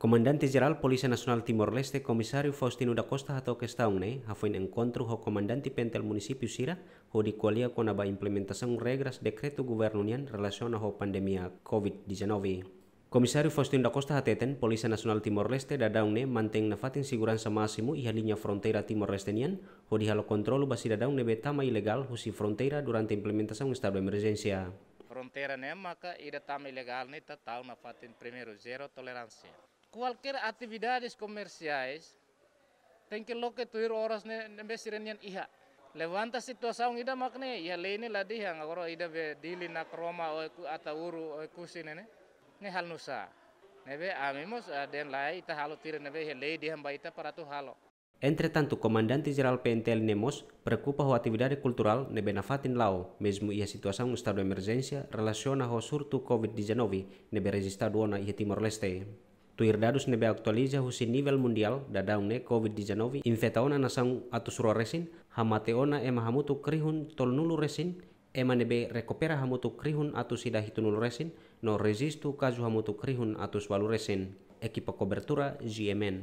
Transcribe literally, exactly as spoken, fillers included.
Komandante Jerál Polísia Nasionál Timor-Leste, Komisáriu Faustino da Costa, hato'o kestaun ne'e hafoin enkontru ho komandante PNTL munisípiu sira, hodi ko'alia kona-ba implementasaun regras dekretu governu nian relasiona ho pandemia covid dezanove. Komisáriu Faustino da Costa hateten, Polísia Nasionál Timor-Leste daudaun ne'e mantein nafatin seguransa másimu iha liña fronteira Timor-Leste nian, hodi halo kontrolu ba sidadaun ne'ebé tama ilegál husi fronteira durante implementasaun estadu emerjénsia. Fronteira ne'e maka ida tama ilegál ne'e ita tau nafatin primeiru, zero toleránsia. Kualkér atividades komersiais tenke loke tuir oras ne'e, ne'ebé sira-nian iha. Levanta situasaun ida mak ne'e, iha lei ne'e la dehan, agora ida be Dili, Nakroma, Oe-, Ataúru, Oekusi ne'e, ne'e halo nusá. Ne'ebé ami mós, ah, dehan lae, ita halo tuir ne'ebé iha lei dehan ba ita para atu halo. Entretantu, Komandante Jerál PNTL ne'e mós preokupa ho atividade kulturál ne'ebé nafatin la'o, mezmu iha situasaun estadu emerjénsia relasiona ho surtu covid dezanove ne'ebé rejistadu ona iha Timor-Leste. Tuir dadus ne'ebé atualiza husi nivel mundiál, daudaun ne'e covid dezanove infeta ona nasaun atus rua resin, hamate ona ema hamutuk rihun tolunulu resin, ema ne'ebé rekupera hamutuk rihun atus ida hitunulu resin, no rejistu kazu hamutuk rihun atus ualu resin. Ekipa kobertura, G M N.